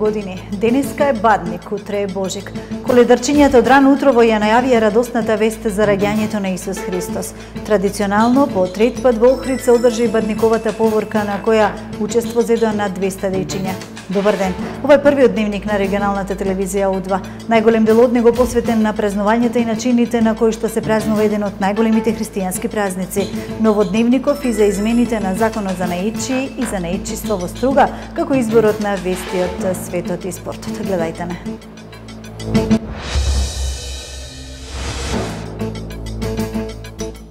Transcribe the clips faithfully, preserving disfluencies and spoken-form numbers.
години. Денеска е Бадник, утре е Божик. Коледарчињата од рано утрово ја најавија радосната вест за раѓањето на Исус Христос. Традиционално, по трет пат во Охрид се одржи Бадниковата поворка на која учество зедоа над двеста дејчиња. Добар ден. Ова е првиот дневник на регионалната телевизија У два. Најголем дел од него посветен на празнувањата и начините на кои што се празнува еден од најголемите христијански празници. Новодневников и за измените на законот за наичи и за наичиство во струга, како изборот на вестиот, светот и спортот. Гледајте не.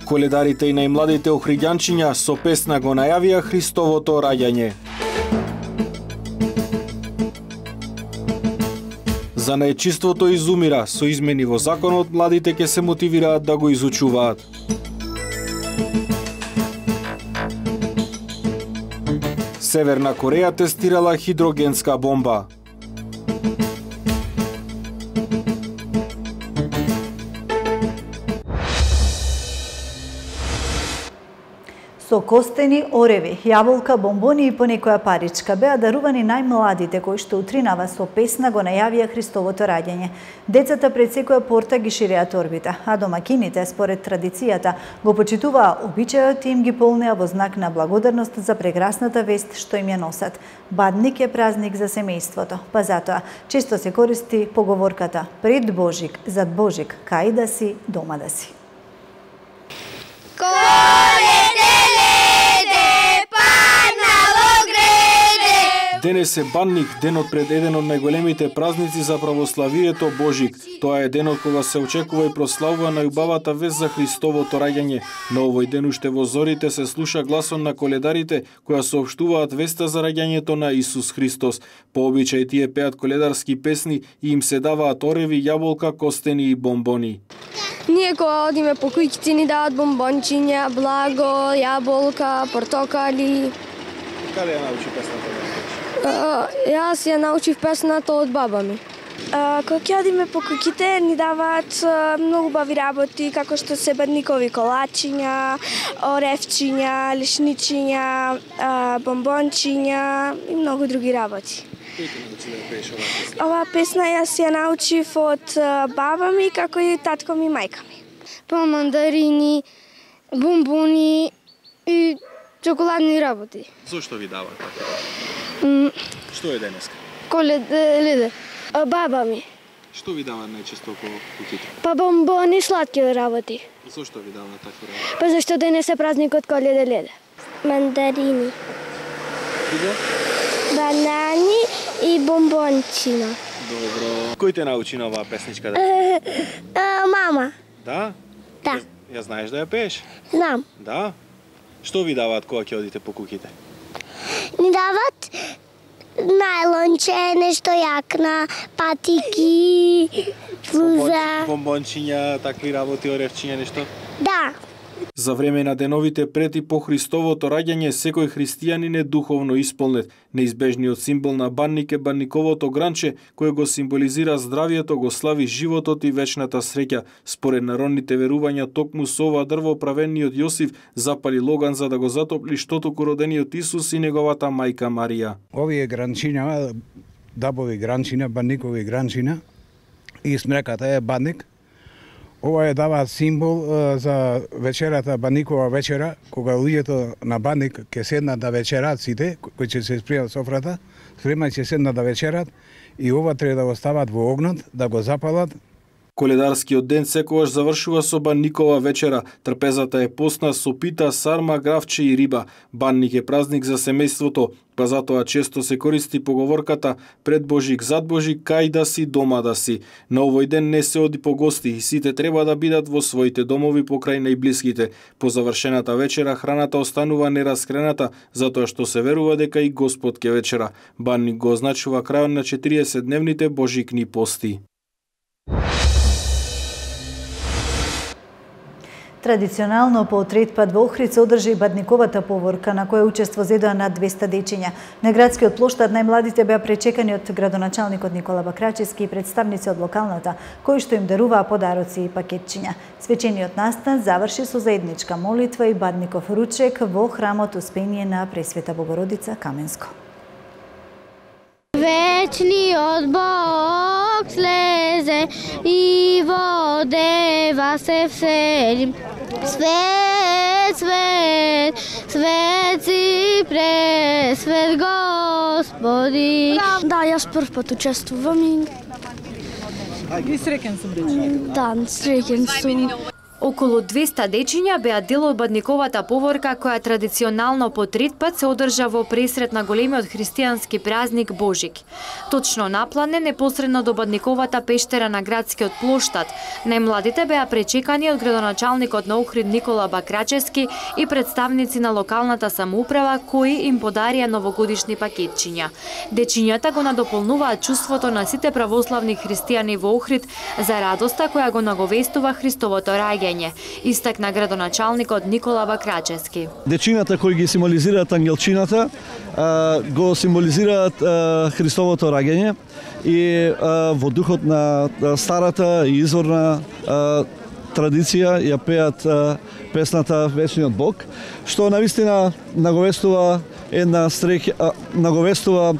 Коледарите и најмладите охриѓанчиња со песна го најавија Христовото раѓање. За најчиството изумира, со измени во законот, младите ќе се мотивираат да го изучуваат. Северна Кореја тестирала хидрогенска бомба. Со костени, ореви, јаболка, бомбони и понекоја паричка беа дарувани најмладите кои што утринава со песна го најавија Христовото раѓање. Децата пред секоја порта ги ширеа торбите, а домакините, според традицијата, го почитуваа обичајот и им ги полнеа во знак на благодарност за прекрасната вест што им ја носат. Бадник е празник за семејството, па затоа често се користи поговорката пред Божик, зад Божик, кај да си, дома да си. Денес е Бадник, денот пред еден од најголемите празници за православието Божик. Тоа е денот кога се очекува и прославува најубавата вест за Христовото раѓање. На овој ден уште во зорите се слуша гласот на коледарите која соопштуваат веста за раѓањето на Исус Христос. По обичај тие пеат коледарски песни и им се даваат ореви, јаболка, костени и бомбони. Ние кога одиме по куќите ни дават бомбончиња, благо, јаболка, портокали. Каде ја научи песната? Uh, јас ја научив песната од баба ми. Uh, кога ќе одиме по куќите ни даваат uh, многу убави работи, како што се бадникови колачиња, оревчиња, лишничиња, uh, бомбончиња и многу други работи. Кој те научи да пееш оваа песна? Оваа песна јас ја научив од uh, баба ми, како и татко ми и мајка ми. Па мандарини, бомбони и чоколадни работи. Зошто ви дават така? Mm. Што е денеска? Коледа, баба ми. Што ви дават најчесто по куќите? Па бомбони, сладки работи. Зошто ви дават такви работи? Па зашто денес е празникот Коледа леде. Мандарини. Иде? Банани и бомбончина. Добро. Кој те научи на оваа песничка? Uh, uh, мама. Да? Да. Ја, ја знаеш да ја пееш? Знам. Да? Што ви даваат кога ќе одите по куќите? Ни дават најлонче, нешто јакна, патики, флуза. Бомбончиња, такви работи, оревчиња, нешто? Да. За време на деновите пред и по Христовото раѓање, секој христијанин е духовно исполнет. Неизбежниот символ на Бадник е бадниковото гранче, кое го символизира здравието, го слави животот и вечната среќа. Според народните верувања, токму со ова дрво правениот Јосиф запали логан за да го затопли штотоку родениот Исус и неговата мајка Марија. Овие гранчиња, дабови гранчиња, бадникови гранчиња и смреката е Бадник. Ова е дава символ uh, за вечерата, Бадникова вечера, кога луѓето на Бадник ќе седнат да вечерат сите, кои ќе се спријат софрата, спремај ќе седнат да вечерат и ова треба да го стават во огнот, да го запалат. Коледарскиот ден секогаш завршува со Бадникова вечера. Трпезата е постна со пита, сарма, гравче и риба. Бадник е празник за семејството, па затоа често се користи поговорката пред Божик, зад Божик, кај да си, дома да си. На овој ден не се оди по гости и сите треба да бидат во своите домови покрај најблиските. По завршената вечера храната останува нераскрената, затоа што се верува дека и Господ ке вечера. Бадник го означува крајот на четириесетдневните божикни пости. Традиционално по трет пат во Охрид се одржи Бадниковата поворка на која учество зедоа над двеста дејчиња. На градскиот плоштад најмладите беа пречекани од градоначалникот Никола Бакрачевски и представници од локалната, кои што им даруваа подароци и пакетчиња. Свечениот настан заврши со заедничка молитва и Бадников ручек во храмот Успение на Пресвета Богородица Каменско. Вечер вечниот Бог слезе и во дева се всели. Свет, свет, свет си пресвет Господи. Да, јас прв пат учествувам и... И среќен сум дечиња. Да, среќен сум. Околу двеста дечиња беа дел од бадниковата поворка која традиционално по трет пат се одржа во пресрет на големиот христијански празник Божик. Точно наплане непосредно до бадниковата пештера на градскиот плоштад, најмладите беа пречекани од градоначалникот на Охрид Никола Бакрачевски и представници на локалната самоуправа кои им подарија новогодишни пакетчиња. Дечињата го надополнуваат чувството на сите православни христијани во Охрид за радоста која го наговестува Христовото раѓање, истакна градоначалникот Никола Бакрачевски. Дечињата кои ги символизираат ангелчината, го символизираат Христовото раѓање и во духот на старата и изворна традиција ја пеат песната Вечниот Бог, што навистина наговестува една среќа, наговестува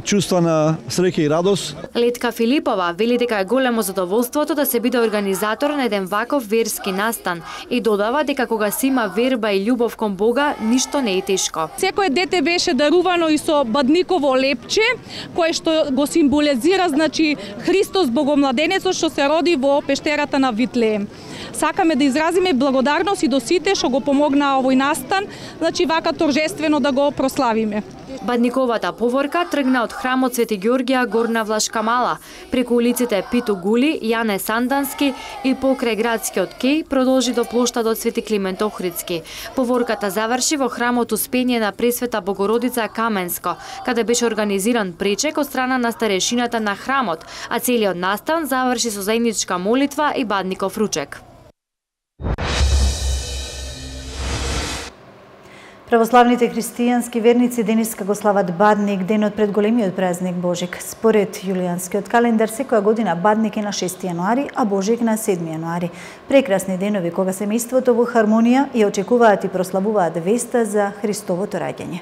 чувства на среќа и радост. Летка Филипова вели дека е големо задоволството да се биде организатор на еден ваков верски настан и додава дека кога се има верба и љубов кон Бога, ништо не е тешко. Секое дете беше дарувано и со бадниково лепче, кое што го символизира, значи, Христос Богомладенецот што се роди во пештерата на Витлеем. Сакаме да изразиме благодарност и до сите што го помогнаа овој настан, значи вака торжествено да го прославиме. Бадниковата поворка тргна од храмот Свети Ѓорѓија Горна Влашка Мала, преку улиците Питу Гули, Јане Сандански и покрај градскиот кеј продолжи до плоштадот Свети Климент Охридски. Поворката заврши во храмот Успение на Пресвета Богородица Каменско, каде беше организиран пречек од страна на старешината на храмот, а целиот настан заврши со заедничка молитва и бадников ручек. Православните христијански верници денеска го слават Бадник, денот пред големиот празник Божик. Според јулијанскиот календар, секоја година Бадник е на шести јануари, а Божик на седми јануари. Прекрасни денови кога семејството во хармонија ја очекуваат и прославуваат веста за Христовото раѓање.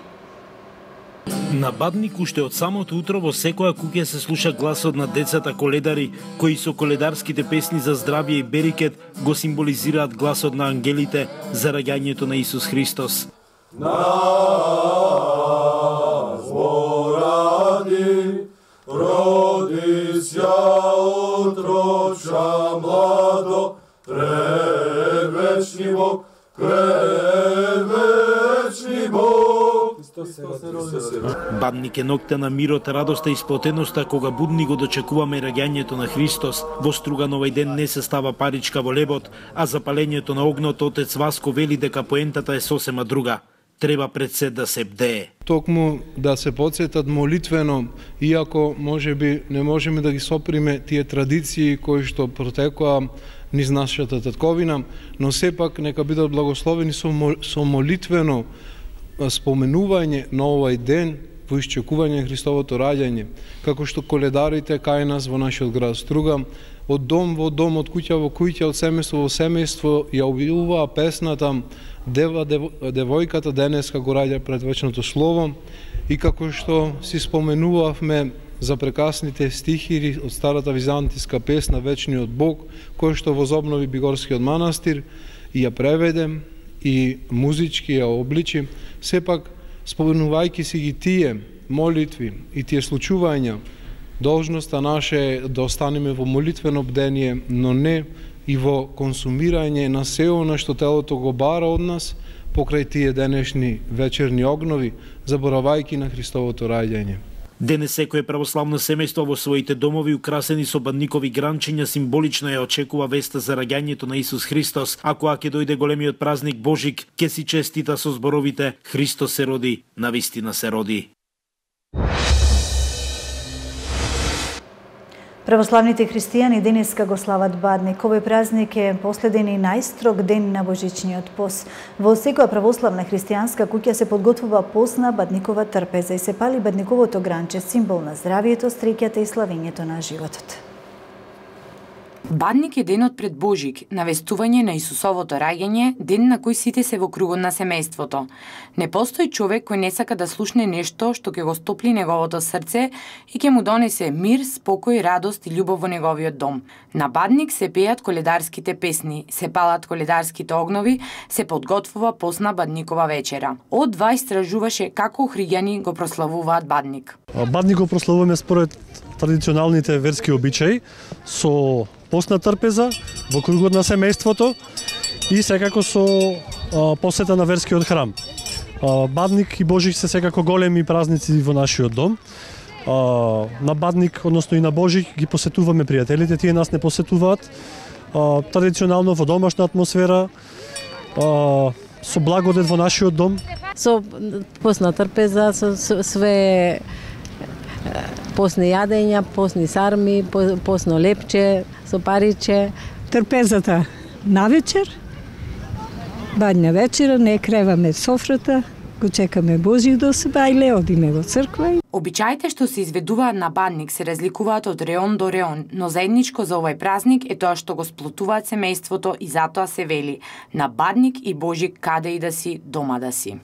На Бадник уште од самото утро во секоја куќа се слуша гласот на децата коледари, кои со коледарските песни за здравје и берикет го символизираат гласот на ангелите за раѓањето на Исус Христос. Нас поради, роди ся отроча младо, предвечни Бог, предвечни Бог. Бадник е ноќта на мирот, радоста и сплотеноста кога будни го дочекуваме раѓањето на Христос. Во струган овој ден не се става паричка во лебот, а запалењето на огнот отец Васко вели дека поентата е сосема друга. Треба пред се да се бдее. Токму да се подсетат молитвено, иако може би не можеме да ги соприме тие традиции кои што протекоа низ нашата татковина, но сепак нека бидат благословени со молитвено споменување на овој ден во исчекување Христовото раѓање, како што коледарите кај нас во нашиот град Струган, од дом во дом, од куќа во куќа, од семејство во семејство ја објавува песната Дева девојката денеска го раѓа пред вечното слово, и како што си споменувавме за прекрасните стихири од старата византиска песна Вечниот Бог, кој што возобнови Бигорскиот манастир и ја преведе и музички ја обличи, сепак споменувајќи си ги тие молитви и тие случувања, должноста наша е да останеме во молитвено бдение, но не и во консумирање на се она што телото го бара од нас покрај тие денешни вечерни огнови, заборавајќи на Христовото раѓање. Денес секое православно семејство во своите домови украсени со бадникови гранчиња символично ја очекува веста за раѓањето на Исус Христос, а кога ќе дојде големиот празник Божик, ќе си честита со зборовите Христос се роди, навистина се роди. Православните христијани денеска го слават Бадник. Овој празник е последен и најстрог ден на божичниот пост. Во секоја православна христијанска куќа се подготвува пост на Бадникова трпеза и се пали Бадниковото гранче, символ на здравието, среќата и славењето на животот. Бадник е денот пред Божик, навестување на Исусовото раѓање, ден на кој сите се во кругот на семејството. Не постои човек кој не сака да слушне нешто што ќе го стопли неговото срце и ќе му донесе мир, спокој, радост и љубов во неговиот дом. На Бадник се пеат коледарските песни, се палат коледарските огнови, се подготвува посна Бадникова вечера. Од два истражуваше како охриѓани го прославуваат Бадник. Бадник го прославуваме според традиционалните верски обичаи со постна трпеза во кругот на семејството и секако со а, посета на верскиот храм. А, Бадник и Божик се секако големи празници во нашиот дом. А, на Бадник, односно и на Божик, ги посетуваме пријателите, тие нас не посетуваат. А, традиционално во домашна атмосфера, а, со благодет во нашиот дом. Со постна трпеза, со, со све посни јадења, посни сарми, посно лепче, со париче. Трпезата на вечер, бадња вечера, не креваме софрата, го чекаме Божи до себе, и ле одиме во црква. Обичаите што се изведуваат на Бадник се разликуваат од реон до реон, но заедничко за овој празник е тоа што го сплотуваат семејството и затоа се вели: на Бадник и Божик каде и да си, дома да си.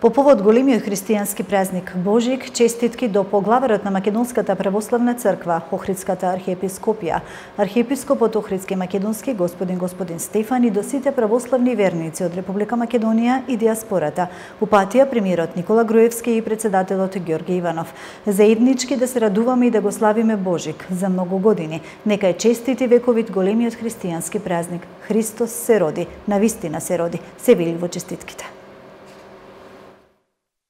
По повод големиот христијански празник Божик, честитки до поглаварот на Македонската православна црква, Охридската архиепископија, архиепископот Охридски македонски господин господин Стефан и до сите православни верници од Република Македонија и диаспората. Упатија премиерот Никола Груевски и председателот Ѓорѓе Иванов. Заеднички да се радуваме и да го славиме Божик за многу години. Нека е честити вековит големиот христијански празник. Христос се роди, навистина се роди, се вели во честитките.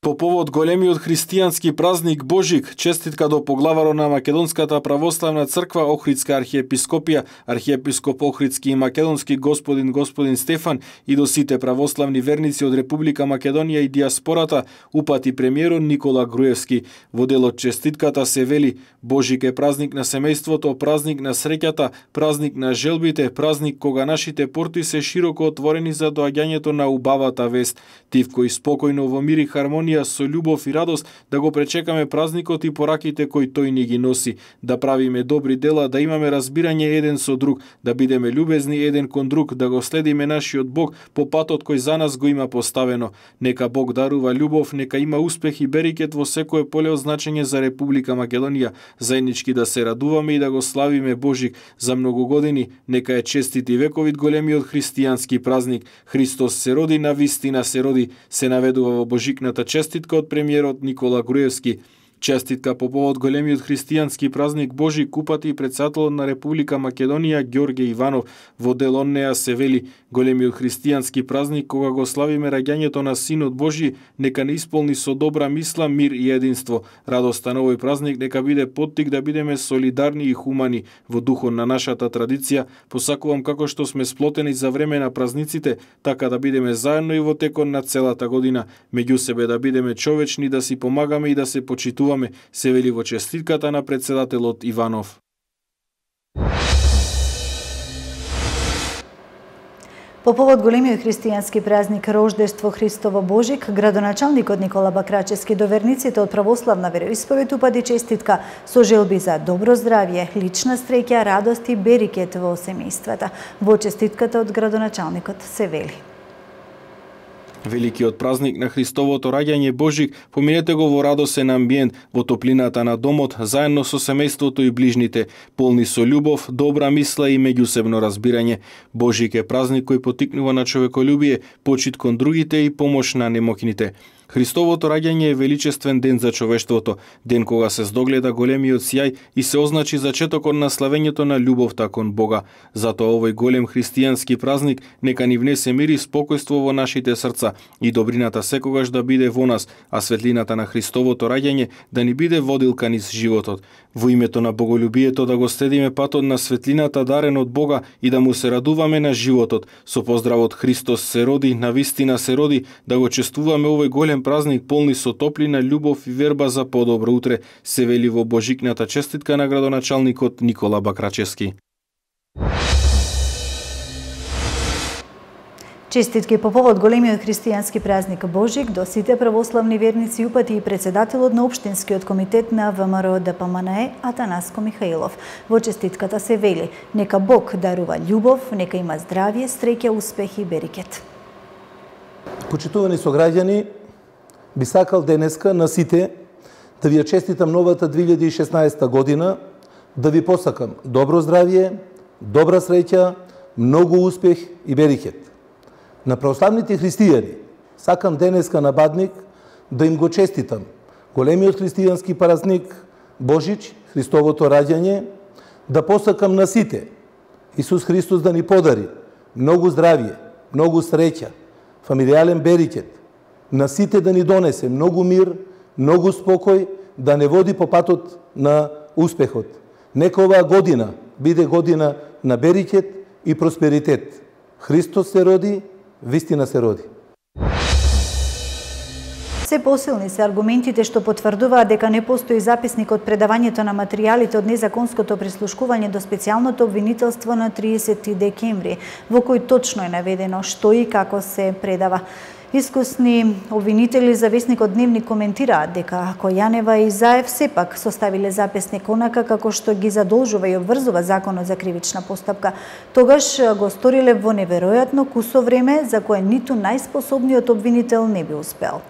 По повод големиот христијански празник Божик, честитка до поглаваро на Македонската православна црква, Охридска архиепископија, архиепископ Охридски и македонски господин господин Стефан и до сите православни верници од Република Македонија и диаспората, упати премиерот Никола Груевски. Во делот честитката се вели: Божик е празник на семејството, празник на среќата, празник на желбите, празник кога нашите порти се широко отворени за доаѓањето на убавата вест. Тивко и спокојно во мир и хармонија со љубов и радост да го пречекаме празникот и пораките кои тој ни ги носи, да правиме добри дела, да имаме разбирање еден со друг, да бидеме љубезни еден кон друг, да го следиме нашиот Бог по патот кој за нас го има поставено. Нека Бог дарува љубов, нека има успех и берикет во секое поле од значење за Република Македонија, заеднички да се радуваме и да го славиме Божик за многу години. Нека е честит и вековит големиот христијански празник. Христос се роди, навистина се роди, се наведува во Божикната честитка од премиерот Никола Груевски. Честитка по повод големиот христијански празник Божик упати и председателот на Република Македонија Ѓорѓе Иванов. Во дел од неа се вели: големиот христијански празник кога го славиме раѓањето на Синот Божи, нека не исполни со добра мисла, мир и единство. Радоста на овој празник нека биде поттик да бидеме солидарни и хумани во духот на нашата традиција. Посакувам како што сме сплотени за време на празниците, така да бидеме заедно и во текот на целата година. Меѓу себе да бидеме човечни, да си помагаме и да се почитуваме, се вели во честитката на председателот Иванов. По повод големиот христијански празник Рождество Христово Божик, градоначалникот Никола Бакрачевски до верниците од православна вероисповед упади честитка со желби за добро здравје, лична среќа, радост и берикет во семејствата. Во честитката од градоначалникот се вели: Великиот празник на Христовото раѓање Божик, поминете го во радосен амбиент, во топлината на домот, заедно со семејството и ближните, полни со љубов, добра мисла и меѓусебно разбирање. Божик е празник кој потикнува на човеколюбие, почит кон другите и помош на немокните. Христовото раѓање е величествен ден за човештвото, ден кога се здогледа големиот сјај и се означи зачетокот на славењето на љубовта кон Бога. Затоа овој голем христијански празник нека ни внесе мир и спокојство во нашите срца и добрината секогаш да биде во нас, а светлината на Христовото раѓање да ни биде водилка низ животот. Во името на боголюбието да го следиме патот на светлината дарен од Бога и да му се радуваме на животот. Со поздравот Христос се роди, навистина се роди, да го чествуваме овој голем празник полни со топлина, љубов и верба за подобро утре, се вели во Божикната честитка на градоначалникот Никола Бакрачевски. Честитки по повод големиот христијански празник Божик до сите православни верници упати и председателот на Општинскиот комитет на ВМРО Д П М Н Е Атанаско Михаилов. Во честитката се вели: нека Бог дарува љубов, нека има здравје, среќа, успех и берекет. Почитувани сограѓани, би сакал денеска на сите да ви ја честитам новата две илјади и шеснаесета година, да ви посакам добро здравје, добра среќа, многу успех и берекет. На православните христијани сакам денеска на Бадник да им го честитам големиот христијански празник Божич, Христовото раѓање, да посакам на сите Исус Христос да ни подари многу здравје, многу среќа, фамилијален берекет, на сите да ни донесе многу мир, многу спокој, да не води по патот на успехот. Нека оваа година биде година на берекет и просперитет. Христос се роди, вистина се роди. Се посилни се аргументите што потврдуваат дека не постои записник од предавањето на материјалите од незаконското прислушкување до специјалното обвинителство на триесети декември, во кој точно е наведено што и како се предава. Искусни обвинители за весникот Дневник коментираат дека ако Јанева и Заев сепак составиле записник онака како што ги задолжува и обврзува Законот за кривична постапка, тогаш го сториле во неверојатно кусо време за кое ниту најспособниот обвинител не би успел.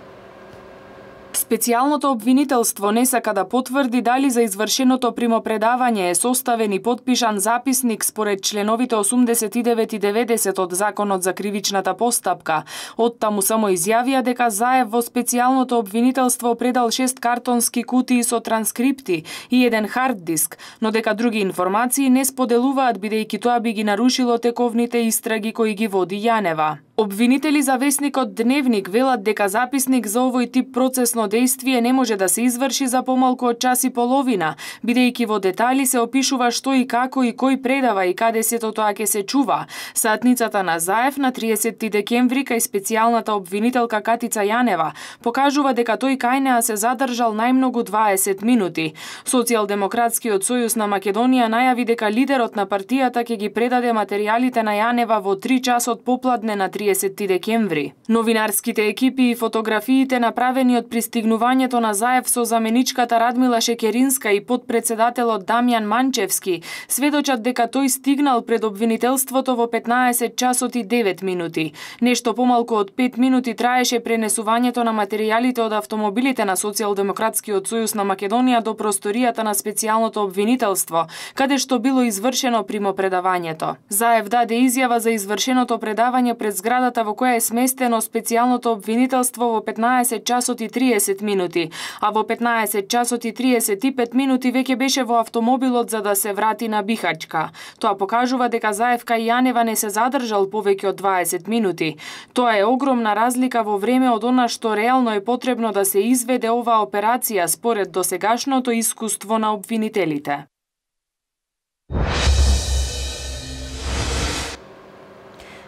Специјалното обвинителство не сака да потврди дали за извршеното примопредавање е составен и потпишан записник според членовите осумдесет и девет и деветдесет од Законот за кривичната постапка. Оттаму само изјавија дека Заев во специјалното обвинителство предал шест картонски кутии со транскрипти и еден хард диск, но дека други информации не споделуваат бидејќи тоа би ги нарушило тековните истраги кои ги води Јанева. Обвинители за весникот Дневник велат дека записник за овој тип процесно дејствие не може да се изврши за помалку од час и половина, бидејќи во детали се опишува што и како и кој предава и каде сето тоа ќе се чува. Сатницата на Заев на триесети декември кај специјалната обвинителка Катица Јанева покажува дека тој кај неа се задржал најмногу дваесет минути. Социјалдемократскиот сојуз на Македонија најави дека лидерот на партијата ќе ги предаде материјалите на Јанева во три часот попладне на триесети декември. Новинарските екипи и фотографиите направени од пристигнувањето на Заев со заменичката Радмила Шекеринска и подпредседателот Дамјан Манчевски сведочат дека тој стигнал пред обвинителството во петнаесет часот и девет минути. Нешто помалку од пет минути траеше пренесувањето на материјалите од автомобилите на Социјалдемократскиот сојуз на Македонија до просторијата на специјалното обвинителство, каде што било извршено примопредавањето. Заев даде изјава за извршеното предавање пред зградата во која е сместено специјалното обвинителство во петнаесет часот и триесет минути, а во петнаесет часот и триесет и пет минути веќе беше во автомобилот за да се врати на Бихачка. Тоа покажува дека Заев кај Јанева не се задржал повеќе од дваесет минути. Тоа е огромна разлика во време од она што реално е потребно да се изведе оваа операција според досегашното искуство на обвинителите.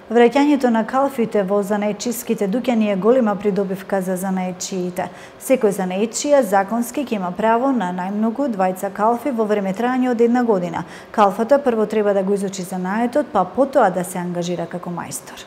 Враќањето на калфите во занаечиските дуќани е голема придобивка за занаечиите. Секој занаечија законски ќе има право на најмногу двајца калфи во време трајање од една година. Калфата прво треба да го изучи занаетот, па потоа да се ангажира како мајстор.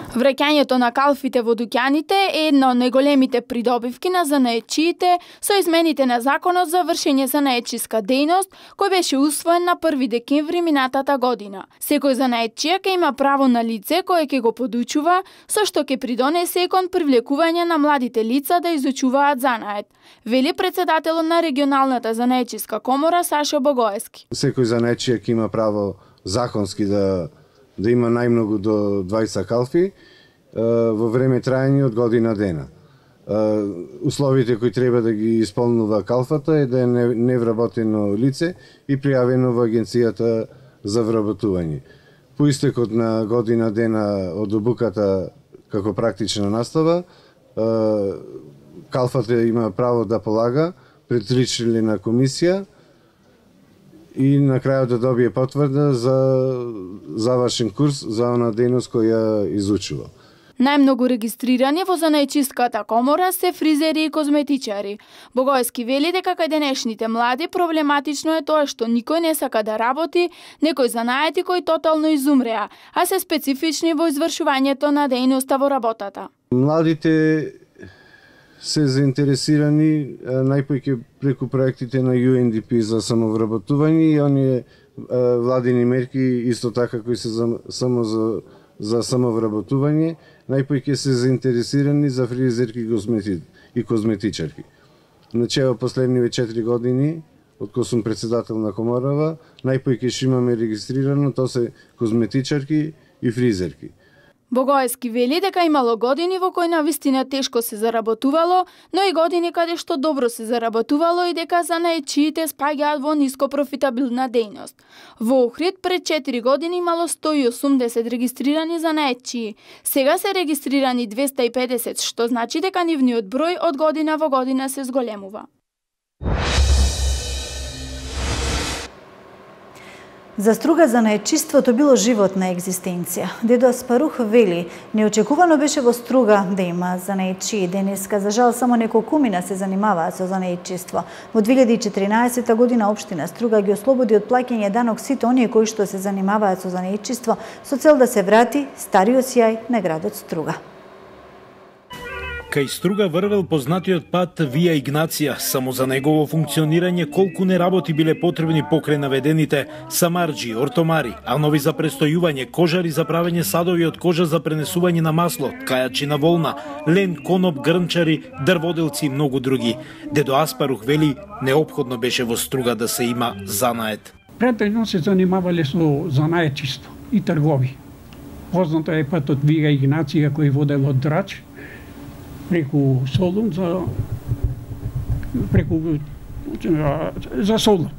Враќањето на калфите во дуќаните е една од најголемите придобивки на занаечиите со измените на Законот за вршење занаечиска дејност, кој беше усвоен на први декември минатата година. Секој занаечија ќе има право на лице кое ќе го подучува, со што ќе придонесе кон привлекување на младите лица да изучуваат занает, вели председателот на регионалната занаечиска комора Сашо Богоевски. Секој занаечија ќе има право законски да да има најмногу до двајца калфи во време трајање од година дена. Условите кои треба да ги исполнува калфата е да е невработено лице и пријавено во агенцијата за вработување. По истекот на година дена од обуката како практична настава, калфата има право да полага пред тричлена комисија и на крајот да добие потврда за завршен курс за она дејност која изучува. Најмногу регистрирани во занаечиската комора се фризери и козметичари. Богојски вели дека кај денешните млади проблематично е тоа што никој не сака да работи, некои занаети кои тотално изумреа, а се специфични во извршувањето на дејноста во работата. Младите се заинтересирани најпојќе преку проектите на Ю Ен Ди Пи за самовработување и оние владини мерки исто така кои се за, само за, за самовработување, најпојќе се заинтересирани за фризерки и козметичарки. Значи, во последниве четири години, од кога сум председател на коморава, најпојќе што имаме регистрирано, тоа се козметичарки и фризерки. Богојски вели дека имало години во кои навистина тешко се заработувало, но и години каде што добро се заработувало и дека занаечиите спаѓаат во ниско профитабилна дејност. Во Охрид пред четири години имало сто и осумдесет регистрирани занаечии. Сега се регистрирани двесте и педесет, што значи дека нивниот број од година во година се зголемува. За Струга занаечиството било животна екзистенција. Дедо Аспарух вели, неочекувано беше во Струга да има занаечии. Денеска, за жал, само неколкумина се занимаваат со занаечиство. Во две илјади и четиринаесета година општина Струга ги ослободи од плаќање данок сите оние кои што се занимаваат со занаечиство со цел да се врати стариот сјај на градот Струга. Кај Струга врвел познатиот пат Вија Игнација, само за негово функционирање колку неработи биле потребни покрај наведените самарџи, ортомари, анови за престојување, кожари за правење садови од кожа за пренесување на масло, ткајачи на волна, лен, коноп, грнчари, дрводелци и многу други. Дедо Аспарух вели, неопходно беше во Струга да се има занаед. Претежно се занимавале со занаечиство и тргови. Познато е патот Вија Игнација кој водел од Драч, преку Солун за преку за Солун.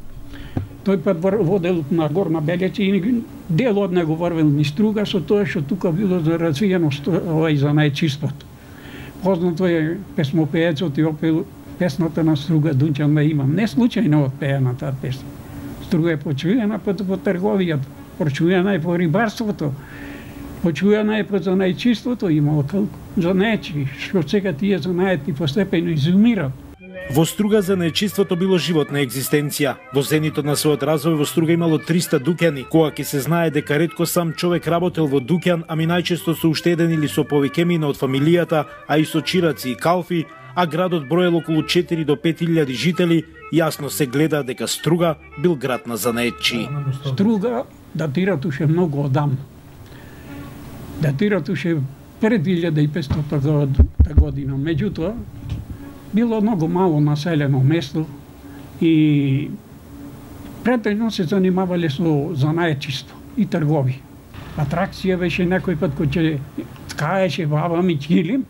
Тој пат водел на Горна Белеца и дел од него врвел низ Струга со тоа што тука било за развиено овај занаечиството. Познато е песмопеецот и опел песната на Струга Дунчан да имам. Не случајно отпеана таа песна. Струга е почуена по трговијата, почуена е по рибарството, почуена е по занаечиството, имало занаечи, што сега тие занаети постепено изумират. Во Струга занаечиството било животна екзистенција. Во зенитот на својот развој во Струга имало триста дуќани, кога ќе се знае дека ретко сам човек работел во дуќан, ами најчесто со уште еден или со повеќе мина од фамилијата, а и со чираци и калфи, а градот броел околу четири до пет илјади жители, јасно се гледа дека Струга бил град на занаечии. Струга датира туше многу одамно. Датира туше пред две илјади и петстотна година. Меѓутоа, било многу мало населено место и претежно се занимавале со занаечиство и тргови. Атракција беше некој пат кој ќе ткаеше баба ми килим,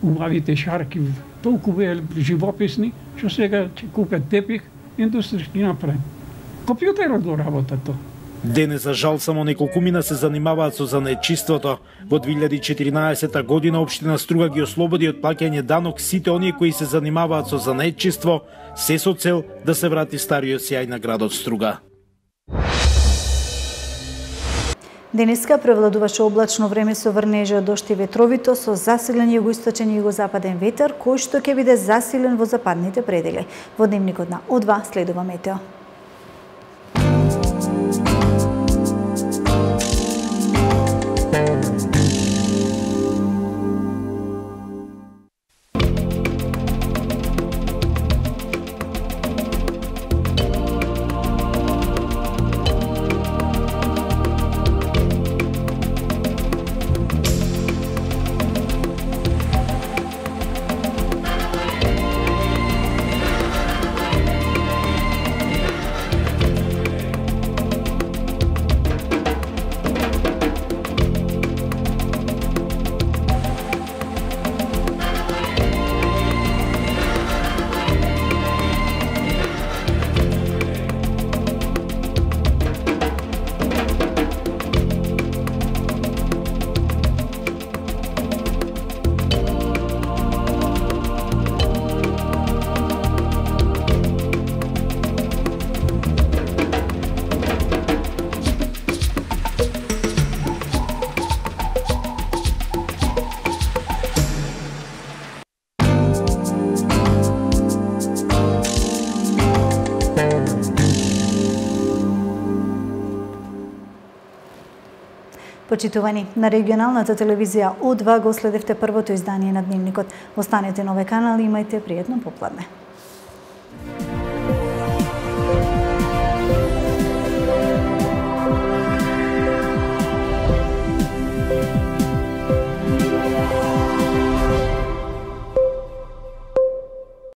убавите шарки, толку беа живописни, што сега ќе купат тепих, индустријски направен. Компјутерот го работа тоа. Денес, за жал, само неколкумина се занимаваат со занаечиството. Во две илјади и четиринаесета година општина Струга ги ослободи од плаќање данок сите оние кои се занимаваат со занаечиство, се со цел да се врати стариот сјај на градот Струга. Денеска превладуваше облачно време со врнежа, дожд и ветровито, со засилен југоисточен и југозападен ветер, кој што ќе биде засилен во западните предели. Во дневникот на О два следува метео. Почитувани, на регионалната телевизија О два го следевте првото издание на Дневникот. Останете на овој канал и имајте пријатно попладне.